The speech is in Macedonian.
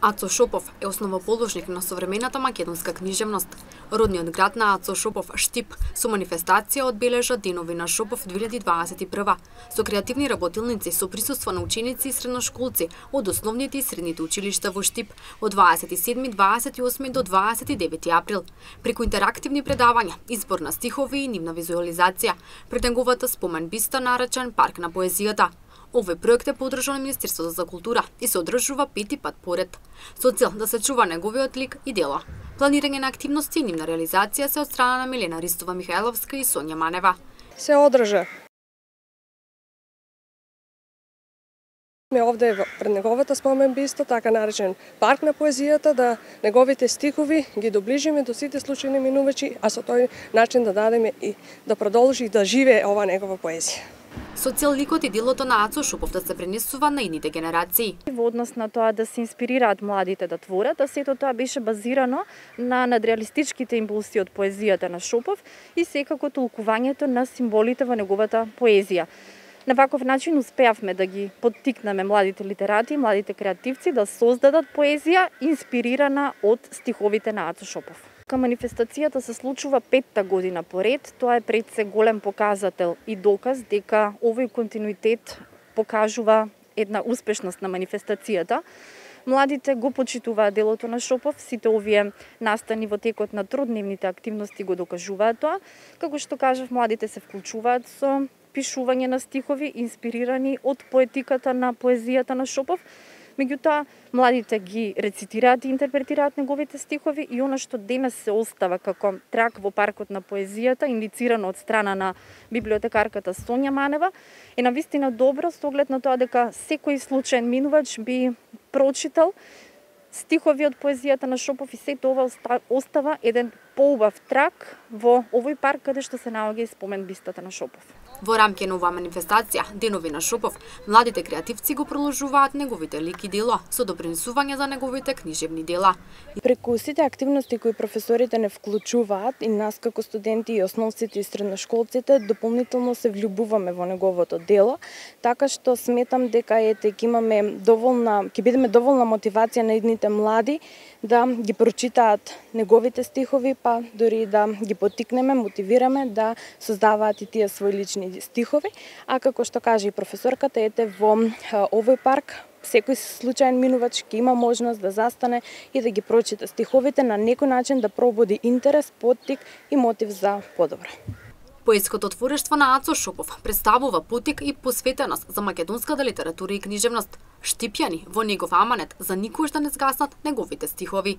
Ацо Шопов е основоположник на современата македонска книжевност. Родниот град на Ацо Шопов, Штип, со манифестација одбележа Денови на Шопов 2021, со креативни работилници со присуство на ученици и средношколци од основните и средните училишта во Штип од 27, 28 до 29 април. Преку интерактивни предавања, избор на стихови и нивна визуализација, пред неговата спомен биста наречен Парк на поезијата. Овој проект е поддржан од Министерството за култура и се одржува пети пат поред, со цел да се чува неговиот лик и дела. Планирање на активности и нивна реализација се од страна на Милена Ристова Михајловска и Сонја Манева. Се одржа. Овде пред неговата спомен биста, така наречен Парк на поезијата, да неговите стихови ги доближиме до сите случајни минувачи, а со тој начин да дадеме и да продолжи да живее ова негова поезија. Со цел ликот и делото на Ацо Шопов да се пренесува на идните генерации. Во однос на тоа да се инспирираат младите да творат, а сето тоа беше базирано на надреалистичките импулси од поезијата на Шопов и секако толкувањето на символите во неговата поезија. На ваков начин успеавме да ги поттикнеме младите литерати, младите креативци да создадат поезија инспирирана од стиховите на Ацо Шопов. Манифестацијата се случува петта година поред. Тоа е пред се голем показател и доказ дека овој континуитет покажува една успешност на манифестацијата. Младите го почитуваат делото на Шопов, сите овие настани во текот на трудневните активности го докажуваат тоа. Како што кажав, младите се вклучуваат со пишување на стихови инспирирани од поетиката на поезијата на Шопов. Меѓутоа, младите ги рецитираат и интерпретираат неговите стихови и она што денес се остава како трак во Паркот на поезијата, индицирано од страна на библиотекарката Сонја Манева, е навистина добро со оглед на тоа дека секој случаен минувач би прочитал стихови од поезијата на Шопов и сето ова остава еден поубав трак во овој парк каде што се наоѓа и спомен бистата на Шопов. Во рамки на оваа манифестација, Денови на Шопов, младите креативци го продолжуваат неговите лик и дела со допринесување за неговите книжевни дела. Преку сите активности кои професорите не вклучуваат и нас како студенти и основците и средношколците дополнително се влюбуваме во неговото дело, така што сметам дека ќе бидеме доволна мотивација на идните млади да ги прочитаат неговите стихови, па дори да ги поттикнеме, мотивираме да создаваат и тие свои лични стихови, а како што каже и професорката, ете во овој парк секој случаен минувач ќе има можност да застане и да ги прочита стиховите, на некој начин да пробуди интерес, поттик и мотив за подобро. Поетското творештво на Ацо Шопов представува поттик и посветеност за македонската литература и книжевност. Штипјани во негов аманет за никош да не згаснат неговите стихови.